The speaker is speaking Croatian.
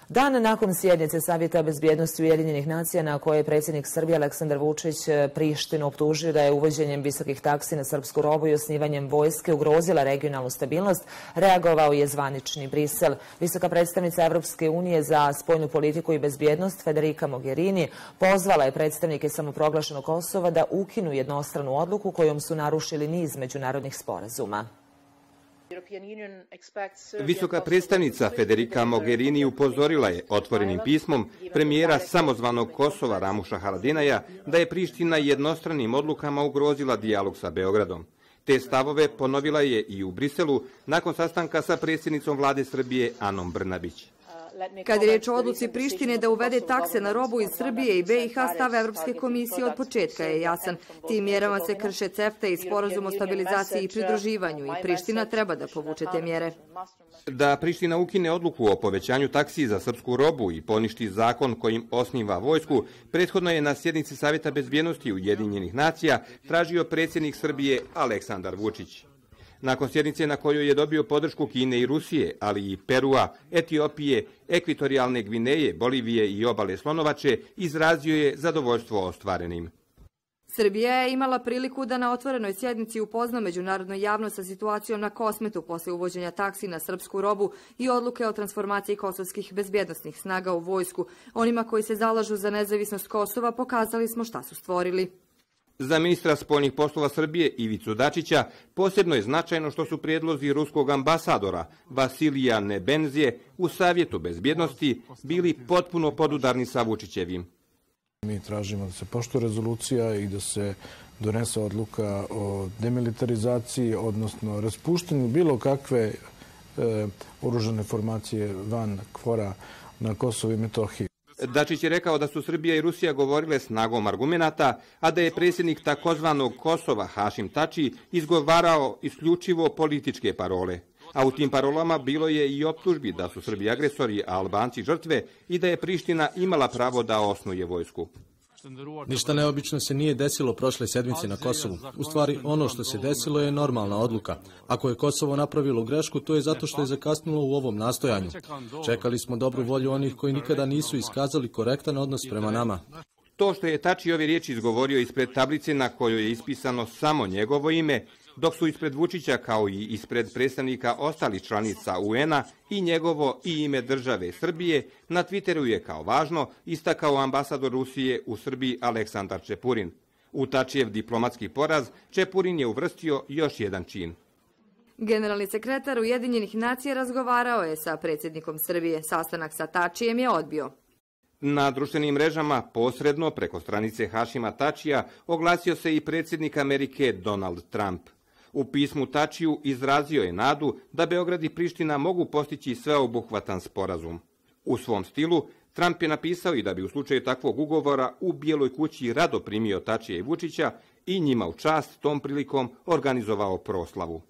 Dan nakon sjednice Savjeta bezbjednosti Ujedinjenih nacija na kojoj je predsjednik Srbije Aleksandar Vučić Prištinu optužio da je uvođenjem visokih taksi na srpsku robu i osnivanjem vojske ugrozila regionalnu stabilnost, reagovao je zvanični Brisel. Visoka predstavnica Evropske unije za spoljnu politiku i bezbjednost Federica Mogherini pozvala je predstavnike samoproglašenog Kosova da ukinu jednostranu odluku kojom su narušili niz međunarodnih sporazuma. Visoka predstavnica Federica Mogherini upozorila je otvorenim pismom premijera samozvanog Kosova Ramuša Haradinaja da je Priština jednostranim odlukama ugrozila dijalog sa Beogradom. Te stavove ponovila je i u Briselu nakon sastanka sa predsjednicom vlade Srbije Anom Brnabić. Kad je riječ o odluci Prištine da uvede takse na robu iz Srbije i BiH, stav Evropske komisije od početka je jasan. Tim mjerama se krše CEFTA i sporazum o stabilizaciji i pridruživanju i Priština treba da povuče te mjere. Da Priština ukine odluku o povećanju taksi za srpsku robu i poništi zakon kojim osniva vojsku, prethodno je na sjednici Savjeta bezbjednosti Ujedinjenih nacija tražio predsjednik Srbije Aleksandar Vučić. Nakon sjednice na kojoj je dobio podršku Kine i Rusije, ali i Perua, Etiopije, Ekvatorijalne Gvineje, Bolivije i obale Slonovače, izrazio je zadovoljstvo ostvarenim. Srbija je imala priliku da na otvorenoj sjednici upozna međunarodnu javnost sa situacijom na Kosmetu posle uvođenja taksi na srpsku robu i odluke o transformaciji kosovskih bezbjednosnih snaga u vojsku. Onima koji se zalažu za nezavisnost Kosova pokazali smo šta su stvorili. Za ministra spoljnih poslova Srbije Ivicu Dačića posebno je značajno što su prijedlozi ruskog ambasadora Vasilija Nebenzije u Savjetu bezbjednosti bili potpuno podudarni sa Vučićevim. Mi tražimo da se poštuje rezolucija i da se donese odluka o demilitarizaciji, odnosno raspuštanju bilo kakve oružane formacije van KFOR-a na Kosovu i Metohiji. Dačić je rekao da su Srbija i Rusija govorile snagom argumenata, a da je predsjednik takozvanog Kosova Hašim Tači izgovarao isključivo političke parole. A u tim parolama bilo je i optužbi da su Srbi agresori, a Albanci žrtve i da je Priština imala pravo da osnuje vojsku. Ništa neobično se nije desilo prošle sedmice na Kosovu. U stvari, ono što se desilo je normalna odluka. Ako je Kosovo napravilo grešku, to je zato što je zakasnilo u ovom nastojanju. Čekali smo dobru volju onih koji nikada nisu iskazali korektan odnos prema nama. To što je Tači ove riječi izgovorio ispred tablice na kojoj je ispisano samo njegovo ime, dok su ispred Vučića kao i ispred predstavnika ostalih članica UN-a i njegovo i ime države Srbije, na Twitteru je kao važno istakao ambasador Rusije u Srbiji Aleksandar Čepurin. U Tačijev diplomatski poraz Čepurin je uvrstio još jedan čin. Generalni sekretar Ujedinjenih nacija razgovarao je sa predsjednikom Srbije. Sastanak sa Tačijem je odbio. Na društvenim mrežama, posredno preko stranice Hašima Tačija, oglasio se i predsjednik Amerike Donald Trump. U pismu Tačiju izrazio je nadu da Beograd i Priština mogu postići sveobuhvatan sporazum. U svom stilu, Trump je napisao i da bi u slučaju takvog ugovora u Bijeloj kući rado primio Tačija i Vučića i njima u čast tom prilikom organizovao proslavu.